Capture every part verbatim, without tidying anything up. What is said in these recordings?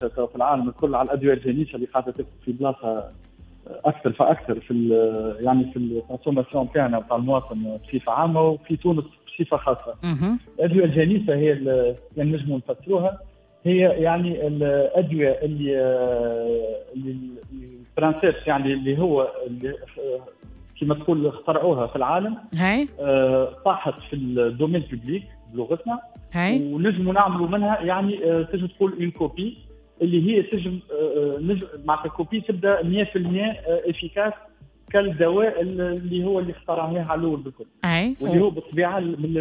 في العالم الكل على الادوية الجنيسه اللي قاعدة تاخذ في بلاصة اكثر فاكثر في يعني في ال consommation تاعنا تاع المواطن بصفة عامة وفي تونس بصفة خاصة. الادوية الجنيسه هي يعني نجموا نفسروها هي يعني الادوية اللي اللي ال principe يعني اللي هو اللي كما تقول اخترعوها في العالم، هاي آه طاحت في ال domaine public بلغتنا، ونجموا نعملوا منها يعني آه تنجم تقول une copie اللي هي تنجم آه نجم معناتها copie تبدا مية بالمية efficace كالدواء اللي هو اللي اخترعناه على الاول بالكل، واللي هو بالطبيعة من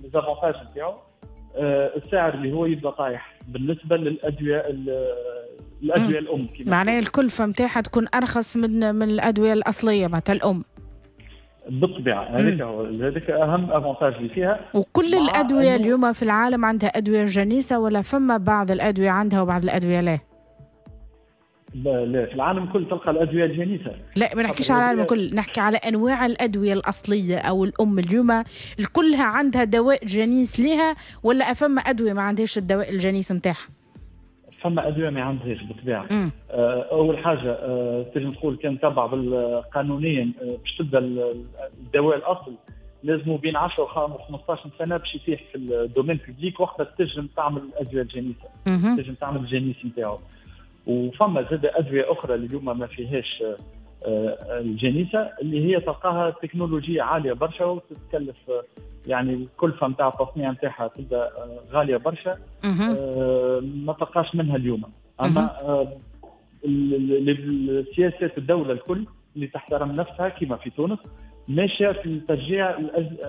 les avantages نتاعو السعر اللي هو يبدا طايح بالنسبة للادوية الادوية الام. معناها الكلفة نتاعها تكون ارخص من من الادوية الاصلية معناتها الام. بالطبيعة هذاك هو هذاك اهم avantage اللي فيها. وكل الادوية اليوم في العالم عندها ادوية جنيسه ولا فما بعض الادوية عندها وبعض الادوية لا؟ لا، في العالم كل تلقى الادوية الجنيسه. لا، ما نحكيش على العالم الكل، نحكي على انواع الادوية الاصلية او الام اليوم كلها عندها دواء جنيس لها ولا فما ادوية ما عندهاش الدواء الجنيس نتاعها؟ فما ادوية ما عندهاش بالطبيعة. آه اول حاجة آه تنجم تقول كان تبع قانونيا آه باش تبدا الدواء الاصل لازم بين عشرة و خمسطاش سنة باش يتيح في ال domaine public، وقتها تنجم تعمل الادوية الجنيسه، تنجم تعمل الجنيس نتاعو. وفما زاد ادوية اخرى اللي اليوم ما فيهاش الجنيسه اللي هي تلقاها تكنولوجيا عالية برشا وتتكلف يعني الكلفة نتاع التصنيع نتاعها تبدا غالية برشا، ما تلقاش منها اليوم. اما سياسات الدولة الكل اللي تحترم نفسها كما في تونس ماشية في تشجيع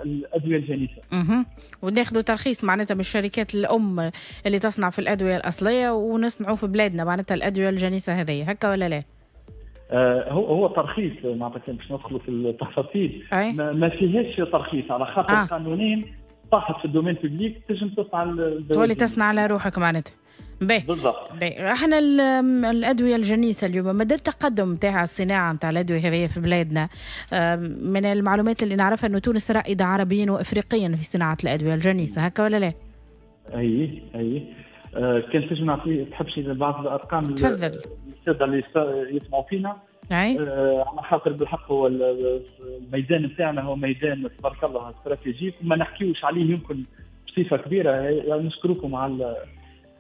الادوية الجنيسه. اها، وناخذوا ترخيص معناتها من الشركات الام اللي تصنع في الادوية الاصلية ونصنعوا في بلادنا معناتها الادوية الجنيسه هذه، هكا ولا لا؟ آه هو هو ترخيص معناتها باش ندخلوا في التفاصيل ما, ما فيهاش ترخيص على خاطر آه. قانونيا طاحت في ال domaine public تنجم تصنع، تولي تصنع على روحك معناتها. باهي بالضبط. باهي، احنا الادوية الجنيسه اليوم مدى التقدم نتاع الصناعة نتاع الادوية هذه في بلادنا؟ من المعلومات اللي نعرفها انه تونس رائدة عربيا وافريقيا في صناعة الادوية الجنيسه، هكا ولا لا؟ اي اي آه كان تنجم نعطي تحبش بعض الارقام؟ تفضل. السادة اللي يسمعوا فينا. اي آه على خاطر بالحق هو الميدان نتاعنا هو ميدان تبارك الله stratégique وما نحكيوش عليه يمكن بصفة كبيرة. يعني نشكركم على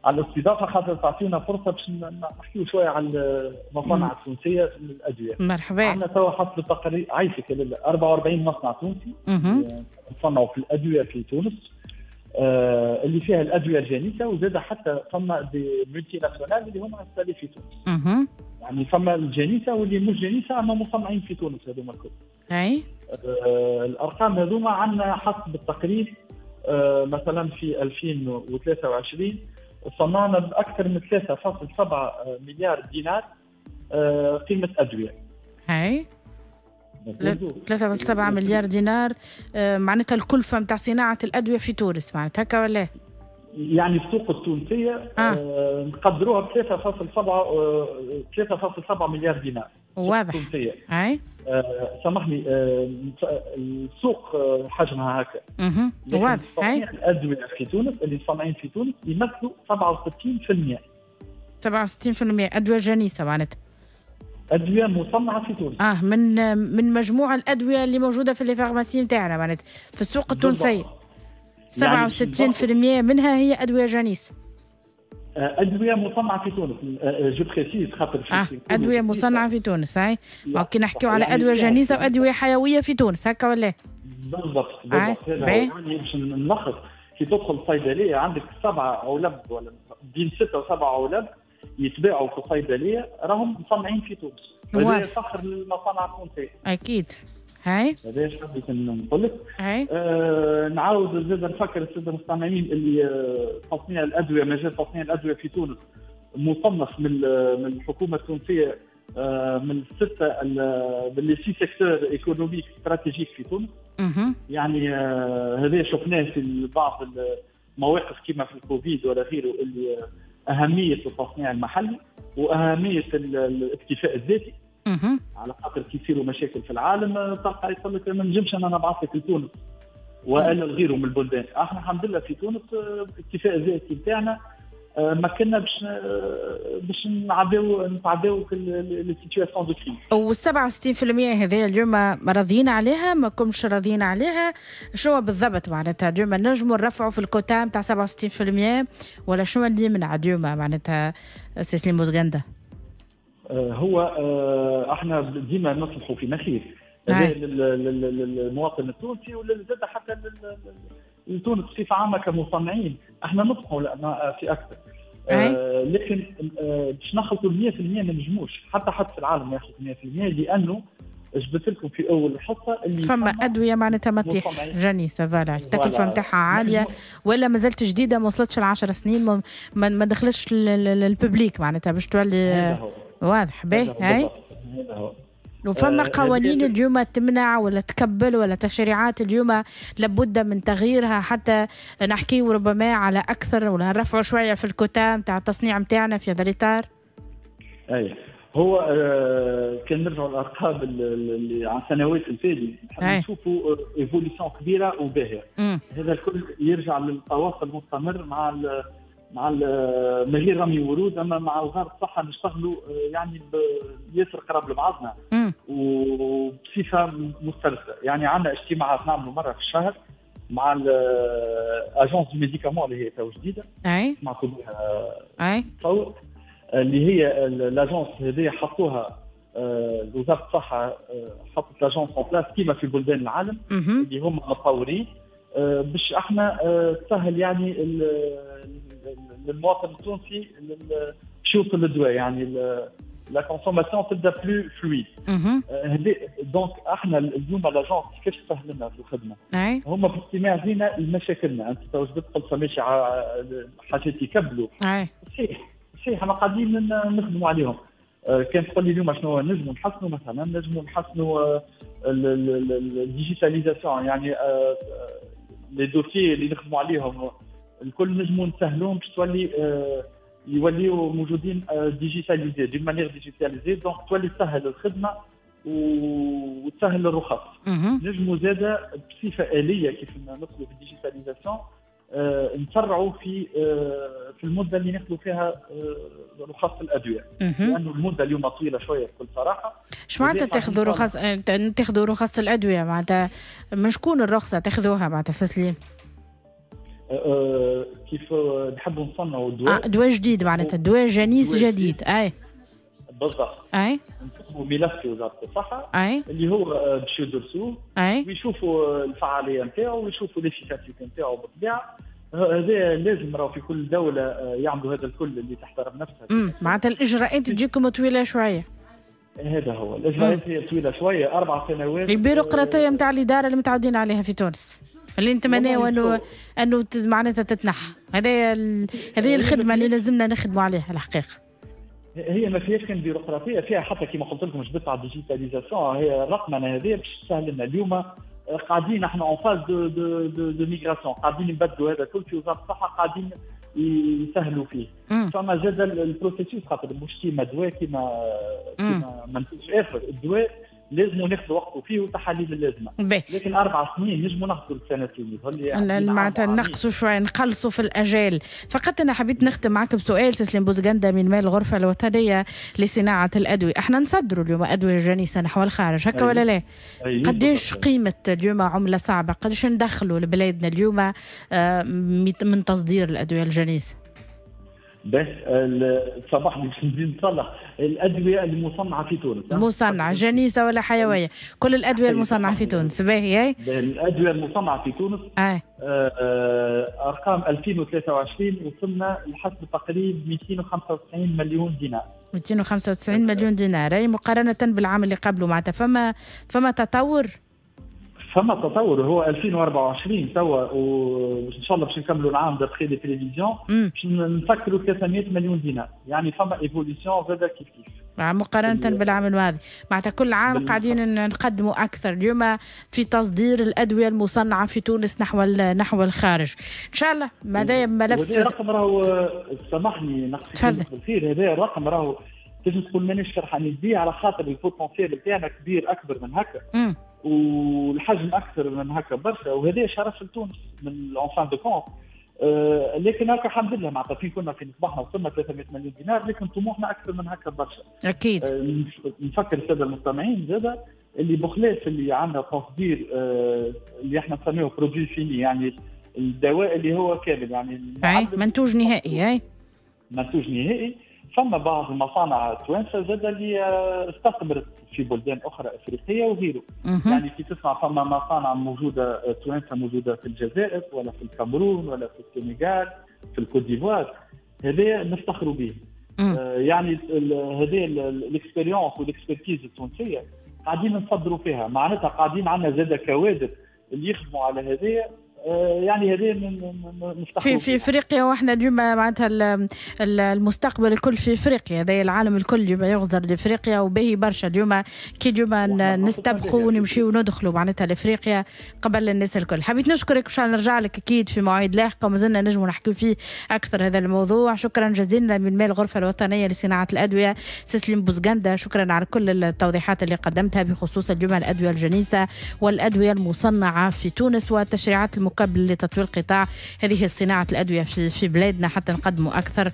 على الاستضافة خاطر تعطينا فرصة باش نحكيو شوية على المصانع التونسية في الادوية. مرحبا. عندنا توا حسب التقارير عايشك أربعة وأربعين مصنع تونسي يصنعوا في الادوية في تونس، آه اللي فيها الادوية الجنيسه، وزاد حتى فما des multinationales اللي هما installées في تونس. مه. يعني فما الجنيسه واللي مش جنيسه اما مصنعين في تونس هذوما الكل. اي آه الارقام هذوما عندنا حسب التقريب آه مثلا في ألفين وثلاثة وعشرين صنعنا باكثر من ثلاثة فاصلة سبعة مليار دينار آه قيمة ادوية. هاي ثلاثة فاصلة سبعة مليار دينار آه معناتها الكلفة نتاع صناعة الادوية في تونس معناتها هكا ولا؟ يعني السوق التونسية آه. آه نقدروها ب ثلاثة فاصلة سبعة ثلاثة فاصلة سبعة مليار دينار. واضح. التونسية. اي آه سامحني آه السوق حجمها هكا. اها واضح. تصنيع الادوية في تونس اللي مصنعين في تونس يمثلوا سبعة وستين بالمية. سبعة وستين بالمية ادوية جنيسه معناتها. ادوية مصنعه في تونس. اه من من مجموع الادوية اللي موجودة في les pharmacies نتاعنا معناتها في السوق التونسية. سبعة وستين بالمية منها هي ادوية جنيسه. ادوية مصنعه في تونس، je précise خاطر آه. ادوية مصنعه في تونس. هاي كي نحكيو على ادوية جنيسه وادوية حيوية في تونس هكا ولا؟ بالضبط بالضبط. يعني باش نلخص، كي تدخل الصيدلية عندك سبعة علب ولا بين ستة وسبعة علب يتباعوا في الصيدلية راهم مصنعين في تونس. هذا فخر للمصانع التونسية. اكيد. هاي هذا اش حبيت نقول لك. هاي آه نعاود زاد نفكر السادة المستمعين اللي آه تصنيع الادوية، مجال تصنيع الادوية في تونس مصنف من من الحكومة التونسية آه من الستة من les six secteurs économiques stratégiques في تونس. مه. يعني آه هذا شفناه في بعض المواقف كما في الكوفيد ولا غيره، اللي اهمية التصنيع المحلي واهمية الاكتفاء الذاتي. على خاطر كي يصيروا مشاكل في العالم تلقى يقول لك ما نجمش انا نبعث لك لتونس والا لغيره من البلدان. احنا الحمد لله في تونس الاكتفاء الذاتي نتاعنا ما كنا باش باش نعداو نتعداو les situations de crise. و سبعة وستين بالمية هذه اليوم راضيين عليها، ما كمش راضيين عليها؟ شنو بالضبط معناتها اليوم نجموا نرفعوا في الكوتا نتاع سبعة وستين بالمية ولا شنو اللي يمنع اليوم معناتها سي سليم بوزقندة؟ هو احنا ديما نصلحوا في مخير للمواطن التونسي ولا زاد حتى لتونس بصفة عامة كمصنعين، احنا نطمحوا في اكثر، آه لكن آه باش نخلطوا مية بالمية ما نجموش، حتى حد في العالم ما يخلط مية بالمية، لانه جبت لكم في اول الحصة اللي فما ادوية معناتها ما تطيحش جنيسه، voilà التكلفة نتاعها عالية ولا مازالت جديدة، ما وصلتش ل عشر سنين، ما, ما دخلتش لل public معناتها باش تولي واضح. باهي هاي وفما قوانين اليوم تمنع ولا تكبل ولا تشريعات اليوم لابد من تغييرها حتى نحكي ربما على اكثر ولا نرفعوا شوية في الكوتا نتاع التصنيع نتاعنا في هذا الاطار؟ اي هو آه كان نرجعوا الارقام اللي عن سنوات الفاتت نشوفوا évolution كبيرة وباهيه. هذا الكل يرجع للتواصل المستمر مع ال مع من غير رمي ورود، اما مع وزارة الصحة نشتغلوا يعني ياسر قراب لبعضنا وبصفه مسترسله، يعني عندنا اجتماعات نعملوا مرة في الشهر مع ال agence du médicament اللي هي تو جديدة، اي سمعتوا بها، اي تصور اللي هي l'agence هذه حطوها وزارة الصحة، حطت l'agence en place كيما في بلدان العالم اللي هم متطورين، باش احنا تسهل يعني للمواطن التونسي باش يوصل للدواء، يعني la consommation تبدا plus fluide. donc احنا اليوم l'agence كيفاش تسهل لنا في الخدمة؟ هما في الاجتماع زينا لمشاكلنا، انت تو جبت قلت فماشي حاجات يكبلوا، صحيح صحيح احنا قاعدين نخدموا عليهم. كان تقول لي اليوم شنو نجموا نحسنوا، مثلا نجموا نحسنوا ال digitalisation، يعني les dossiers اللي نخدموا عليهم الكل نجموا نسهلوهم باش تولي يوليو موجودين digitalisés d'une manière digitalisée، donc تولي تسهل الخدمة وتسهل الرخص. نجموا زاده بصفة اليه كيف ندخلوا في ال digitalisation نسرعوا في في المدة اللي ناخذوا فيها رخص الادوية، لانه المدة اليوم طويلة شوية بكل صراحة. اش معناتها تاخذوا رخص تاخذوا رخص الادوية؟ معناتها من شكون الرخصة تاخذوها معناتها سليم؟ أه كيف نحبوا نصنعوا دواء، آه دواء جديد معناتها دواء جنيس جديد، اي بالضبط، اي نكتبوا ملف في وزارة الصحة، اي اللي هو باش يدرسوه، اي ويشوفوا الفعالية نتاعو ويشوفوا l'efficacité نتاعو بالطبيعة. هذا لازم راهو في كل دولة يعملوا هذا الكل اللي تحترم نفسها. معناتها الاجراءات تجيكم طويلة شوية. هذا هو الاجراءات هي طويلة شوية، اربع سنوات. البيروقراطية نتاع الادارة اللي متعودين عليها في تونس اللي نتمناو انه انه معناتها تتنحى. هذه هذه الخدمة اللي لازمنا نخدموا عليها الحقيقة. هي ما فيهاش كان بيروقراطيه، فيها حتى كما قلت لكم جبت على ال digitalisation، هي الرقمنه هذه باش تسهل لنا. اليوم قاعدين احنا en phase de de de, de migration، قاعدين نبدلوا هذا الكل في وزارة الصحة، قاعدين يسهلوا فيه. فما زاد ال processus خاطر مش كيما دواء كيما كيما منتوج اخر، الدواء لازم ناخذ وقته فيه وتحاليل اللازمة، لكن اربع سنين نجموا ناخذوا السنتين معناتها نقصوا شوية، نقلصوا في الاجال. فقط انا حبيت نختم معك بسؤال سليم بوزقندة من مال الغرفة الوطنية لصناعة الادوية، احنا نصدروا اليوم ادوية جنيسه نحو الخارج هكا ولا لا؟ قديش قيمة اليوم عمله صعبة، قديش ندخلوا لبلادنا اليوم من تصدير الادوية الجنيسه؟ بس صباح باش نزيد نصلح الادوية المصنعة في تونس، مصنعه جنيسه ولا حيوية، كل الادوية المصنعة في تونس. باهي الادوية المصنعة في تونس آه. آه ارقام ألفين وثلاثة وعشرين وصلنا لحسب تقريب مئتين وخمسة وتسعين مليون دينار. مئتين وخمسة وتسعين مليون دينار، اي مقارنة بالعام اللي قبله معناتها فما فما تطور؟ فما تطور. هو ألفين وأربعة وعشرين توا وان شاء الله باش نكملوا العام d'après les prévisions باش نفكروا ثلاثمئة مليون دينار، يعني فما évolution زاد كيف كيف مقارنة بالعام الماضي. معناتها كل عام قاعدين نقدموا أكثر اليوم في تصدير الأدوية المصنعة في تونس نحو نحو الخارج. إن شاء الله ماذا ملف هذا الرقم راهو، سامحني نقصد بالخير، هذا الرقم راهو تنجم تقول مانيش فرحانين بيه على خاطر ال potentiel بتاعنا كبير أكبر من هكا والحجم اكثر من هكا برشا، وهذا شرف لتونس من en fin de compte. آه لكن هكا الحمد لله معناتها في كنا في نصبحنا وصلنا ثلاثمية مليون دينار، لكن طموحنا اكثر من هكا برشا. اكيد. آه نفكر السادة المستمعين زاده اللي بخلاف اللي عندنا تصدير آه اللي احنا نسميه produit fini، يعني الدواء اللي هو كامل، يعني منتوج نهائي. اي منتوج نهائي. فما بعض المصانع التوانسة زاد اللي استثمرت في بلدان اخرى افريقية وغيره. يعني كي تسمع فما مصانع موجودة توانسة موجودة في الجزائر ولا في الكاميرون ولا في السنغال في الكوت ديفوار، هذا نفتخروا به. آه يعني هذه ال expérience وال expertise التونسية قاعدين نصدروا فيها، معناتها قاعدين عندنا زاد كوادر اللي يخدموا على هذه، يعني هذه في في افريقيا. واحنا اليوم معناتها المستقبل الكل في افريقيا، هذا العالم الكل اليوم يغزر لافريقيا، وباهي برشا اليوم كي اليوم نستبقوا ونمشيو وندخلوا معناتها لافريقيا قبل الناس الكل. حبيت نشكرك باش نرجع لك اكيد في مواعيد لاحقة ومازلنا نجموا نحكيو فيه اكثر هذا الموضوع. شكرا جزيلا من مال الغرفة الوطنية لصناعة الادوية سسليم بوزغندا، شكرا على كل التوضيحات اللي قدمتها بخصوص اليوم الادوية الجنيسه والادوية المصنعة في تونس والتشريعات المكبله لتطوير قطاع هذه صناعة الأدوية في في بلادنا حتى نقدموا أكثر.